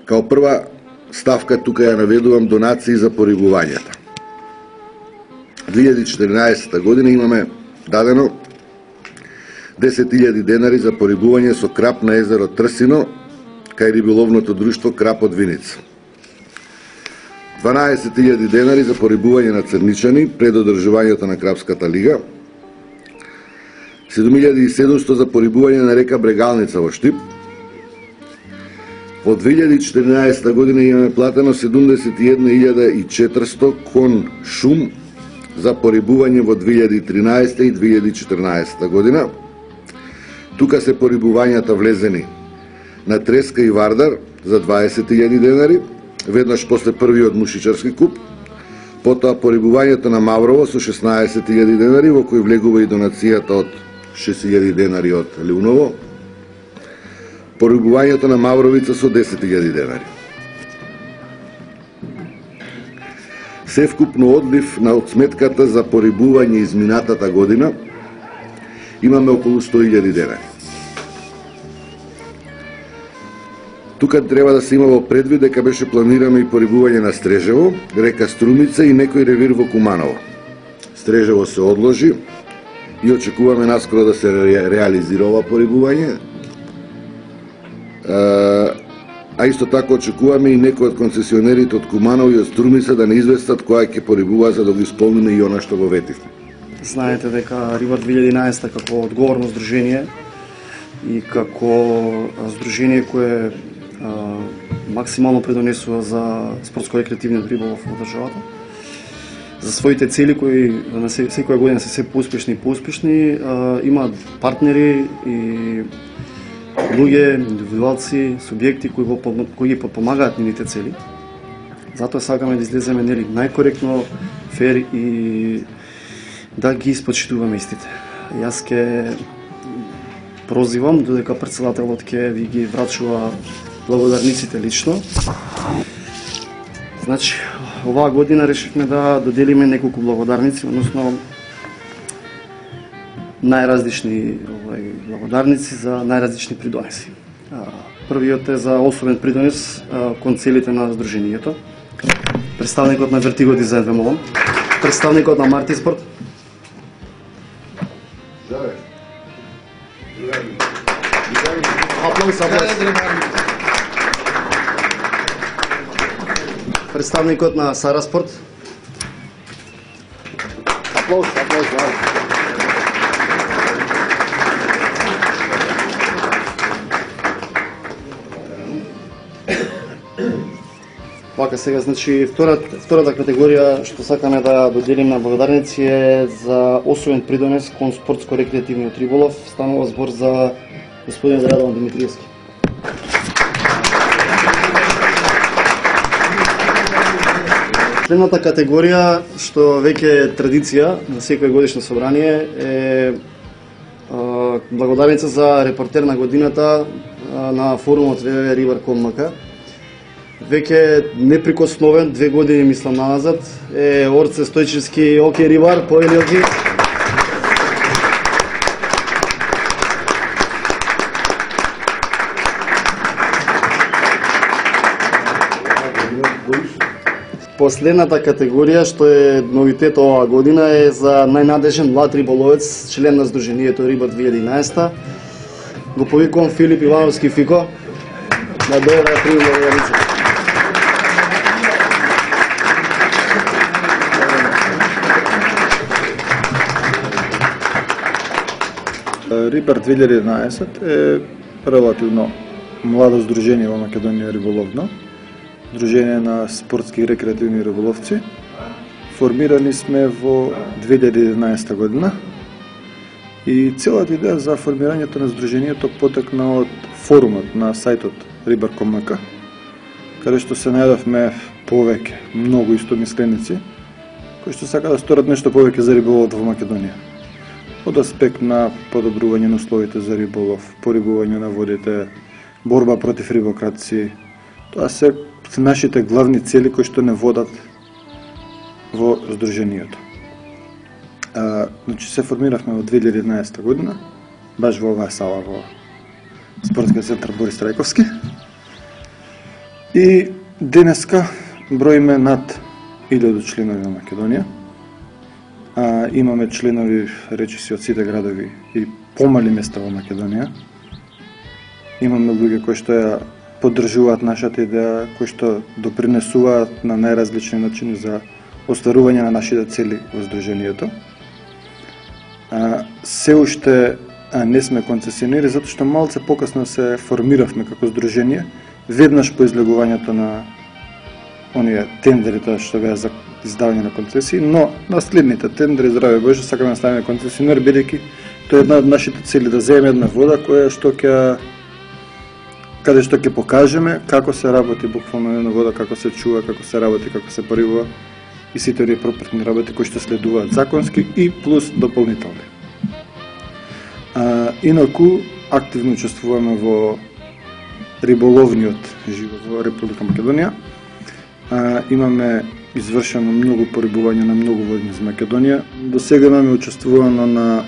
Као прва ставка тука ја наведувам донации за порибувањата. 2014 година имаме дадено 10.000 денари за порибување со крап на езеро Трсино кај риболовното друштво Крап од Виница. 12.000 денари за порибување на црничани пред одржувањето на Крапската лига. 7.700 за порибување на река Брегалница во Штип. Во 2014 година имаме платено 71.400 кон шум за порибување во 2013 и 2014 година. Тука се порибувањата влезени на треска и вардар за 20.000 денари, веднаш после првиот мушичарски куп, потоа порибувањето на Маврово со 16.000 денари, во кој влегува и донацијата од 6.000 денари од Лиуново, порибувањето на Мавровица со 10.000 денари. Севкупно одлив на одсметката за порибување изминатата година имаме околу 100.000 денари. Тука треба да се има во предвид дека беше планирано и порибување на Стрежево, река Струмица и некој ревир во Куманово. Стрежево се одложи и очекуваме наскоро да се реализира ова порибување. А исто така очекуваме и некои од концесионерите од Куманово и од Струмица да не известат која ќе порибува за да го исполниме и она што го ветивме. Знаете дека Рибар 2011 како одговорно здружение и како здружение кое максимално предонесува за спортско-рекреативниот риболов во државата. За своите цели кои на секоја година се поуспешни и поуспешни, има партнери и луѓе, индивидуалци, субјекти кои ги подпомагаат нивните цели. Затоа сакаме да излеземе најкоректно, фер и да ги испочитуваме истите. Јас ке прозивам додека претседателот ке ви ги врачува благодарниците лично. Значи, оваа година решивме да доделиме неколку благодарници, односно најразлични благодарници за најразлични придонеси. Првиот е за особен придонес кон целите на здруженијето. Представникот на Вертиго Дизајн ве молам. Представникот на Мартиспорт. Представникот на Сараспорт. Аплауз. Вака сега, значи, втората категорија што сакаме да доделиме на благодарници е за особен придонес кон спортско-рекреативниот риболов. Станува збор за господин Радован Димитриевски. Следната категорија, што веќе е традиција на секој годишно собрание, е благодарница за репортер на годината на форумот www.ribar.com.mk. Веќе неприкосновен, 2 години мислам назад, е Орце Стојчевски. Оке, Рибар, повели оке. Последната категорија, што е новитет оваа година, е за најнадежен млад риболовец, член на здруженијето Рибар 2011. Го повикувам Филип Ивановски Фико. Да дојде да прими благодарница. Рибар 2011 е релативно младо здружение во Македонија риболовно. Дружение на спортски и рекреативни риболовци. Формирани сме во 2011 година и целата идеја за формирањето на здруженијето потекна од форумот на сајтот Ribar.com.mk, каде што се најдовме повеќе, многу истомисленици, кои што сака да сторат нешто повеќе за риболовот во Македонија. Од аспект на подобрување на условите за риболов, порибување на водите, борба против рибократци. Тоа се нашите главни цели кои што не водат во здруженијето. Значи се формиравме во 2011 година, баш во оваа сала во Спортскиот центар Борис Трајковски. И денеска броиме над 1000 членови во Македонија. Имаме членови, речиси, од сите градови и помали места во Македонија. Имаме луѓе кои што ја поддржуваат нашата идеја, кои што допринесуваат на најразлични начини за остварување на нашите цели во Сдруженијето. Се уште не сме концесионери, затоа што малце покасно се формиравме како Сдружение, веднаш по излегувањето на оние тендерите што беа за издавање на концесии, но на следните тендери, здраве Боже, сакаме да станеме концесионер, бидејќи тоа е една од нашите цели, да земеме една вода каде што ќе покажеме како се работи буквално една вода, како се чува, како се работи, како се порибува и сите оние пропратни работи кои што следуваат законски и плюс дополнителни. Инаку активно учествуваме во риболовниот живот во Република Македонија. Имаме извршено многу порибување на многу води за Македонија. До сега имаме учествувано на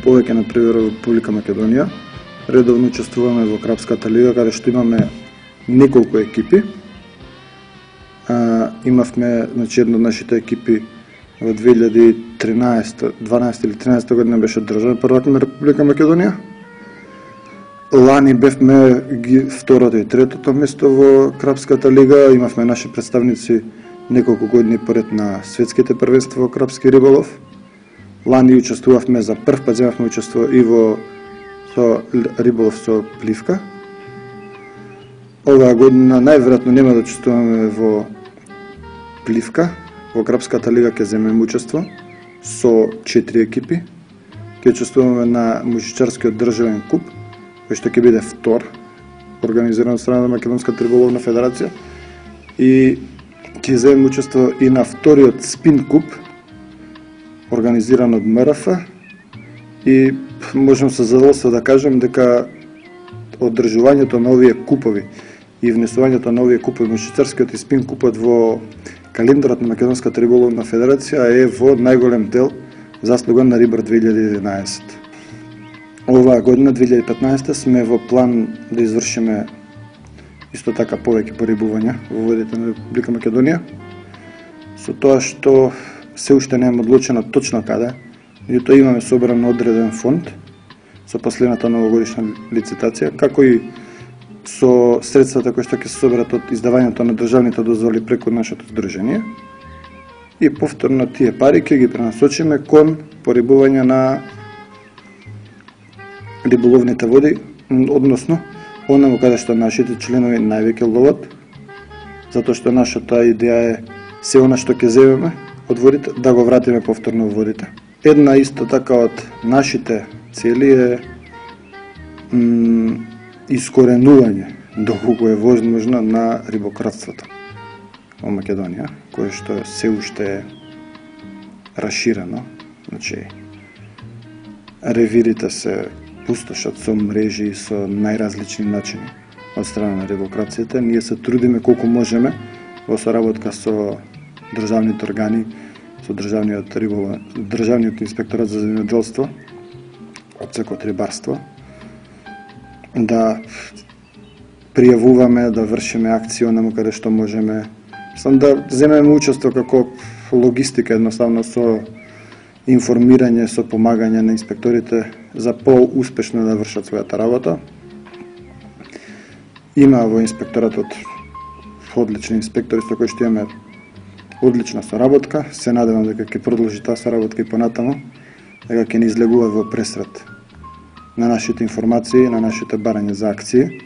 повеќе на привер во Република Македонија. Редовно учествуваме во Крапската лига, каде што имаме неколку екипи. Имавме, значи, една од нашите екипи во 2013, 12 или 13 година беше државен првак на Република Македонија. Лани бевме второто и третото место во Крапската лига, имавме наши представници неколку години поред на светските првенства во крапски риболов. Лани учествувавме за прв пат, земавме учество и во риболов со пливка. Оваа година најверојатно нема да учествуваме во пливка. Во Крапската лига ќе земеме учество со 4 екипи. Ќе учествуваме на мужичарскиот државен куп, кој што ќе биде втор, организиран од страна на Македонската риболовна федерација, и ќе земеме учество и на вториот спин куп, организиран од МРФ, и можам со задоволство да кажам дека одржувањето на овие купови и внесувањето на овие купови, мужичарскиот и спин купот во календарот на Македонската риболовна федерација е во најголем дел заслуга на Рибар 2011. Оваа година, 2015, сме во план да извршиме исто така повеќе порибувања во водите на Република Македонија, со тоа што се уште не е одлучено точно каде, меѓутоа имаме собран одреден фонд со последната новогодишна лицитација, како и со средствата кои што ќе се соберат од издавањето на државните дозволи преку нашето здружение, и повторно тие пари ќе ги пренасочиме кон порибување на риболовните води, односно онаму каде што нашите членови највеќе ловат, затоа што нашата идеја е се она што ќе земеме од водите да го вратиме повторно во водите. Една исто така од нашите цели е искоренување доколку е возможно на рибократството во Македонија, кое што се уште е раширено. Значи, ревирите се пустошат со мрежи и со најразлични начини од страна на рибокрацијата. Ние се трудиме колку можеме во соработка со државните органи, со државниот инспекторат за земјоделство, одсекот рибарство, да пријавуваме, да вршиме акции онаму каде што можеме, да земеме учество како логистика, едноставно со информирање, со помагање на инспекторите за по-успешно да вршат својата работа. Има во инспекторатот одлични инспектори со кои што имаме одлична соработка. Се надевам дека ќе продолжи таа соработка и понатаму, дека ќе не излегува во пресрет на нашите информации, на нашите барања за акции.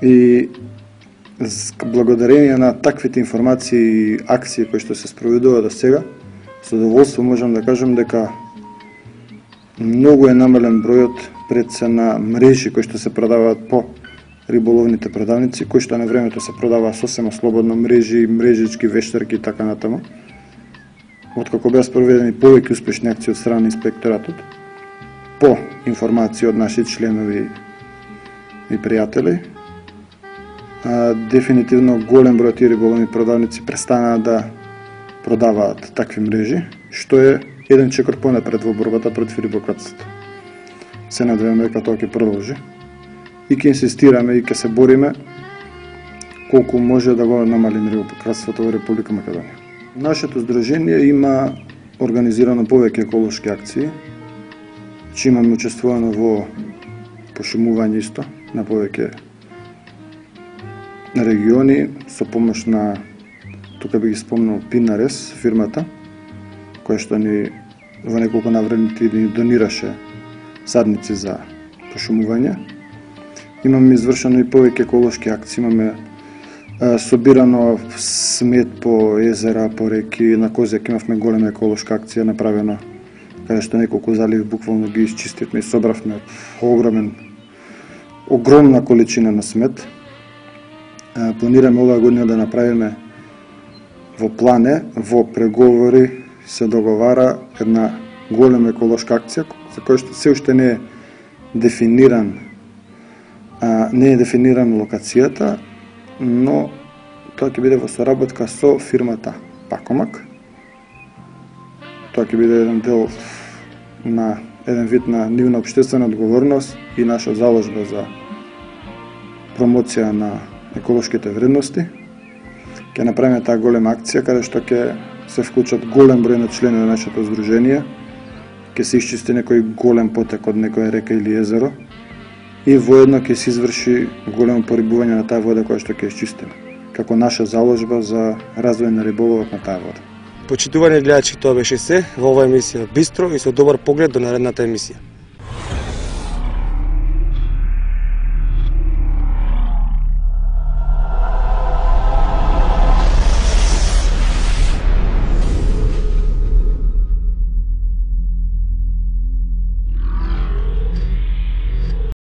И благодарение на таквите информации и акции кои што се спроведува до сега, со задоволство можам да кажам дека многу е намален бројот прецена мрежи кои што се продаваат по риболовните продавници, кои што на времето се продаваа сосема слободно, мрежи, мрежички, вештарки и така натаму. Откако беа спроведени повеќе успешни акции од страна на инспекторатот, по информации од наши членови и пријатели, дефинитивно голем број тие риболовни продавници престанаа да продаваат такви мрежи, што е еден чекор понапред во борбата против рибократството. Се надеваме дека тоа ќе продолжи и ќе инсистираме и ќе се бориме колку може да го намалим рибопроизводството во Република Македонија. Нашето здружение има организирано повеќе еколошки акции, че имаме учествувано во пошумување исто на повеќе региони со помош на, тука би ги спомнал, Пинарес, фирмата, која што ни во неколку навреди ни донираше садници за пошумување. Имаме извршено и повеќе еколошки акции, имаме собирано смет по езера, по реки, на Козјак имавме голема еколошка акција направена, каде што неколку заливи буквално ги исчистивме и собравме огромна количина на смет. Планираме оваа година да направиме во плане, во преговори се договара една голема еколошка акција за која што се уште не е дефиниран локацијата, но тоа ќе биде во соработка со фирмата Пакомак. Тоа ќе биде еден дел на еден вид на нивна општествена одговорност и наша заложба за промоција на еколошките вредности. Ќе направиме таа голема акција каде што ќе се вклучат голем број на члени на нашето здружение, ќе се исчисти некој голем потек од некоја река или езеро и воедно ќе се изврши големо порибување на таа вода која што ќе исчистиме, како наша заложба за развој на риболовот на таа вода. Почитувани гледачи, тоа беше се во оваа емисија Бистро и со добар поглед до наредната емисија.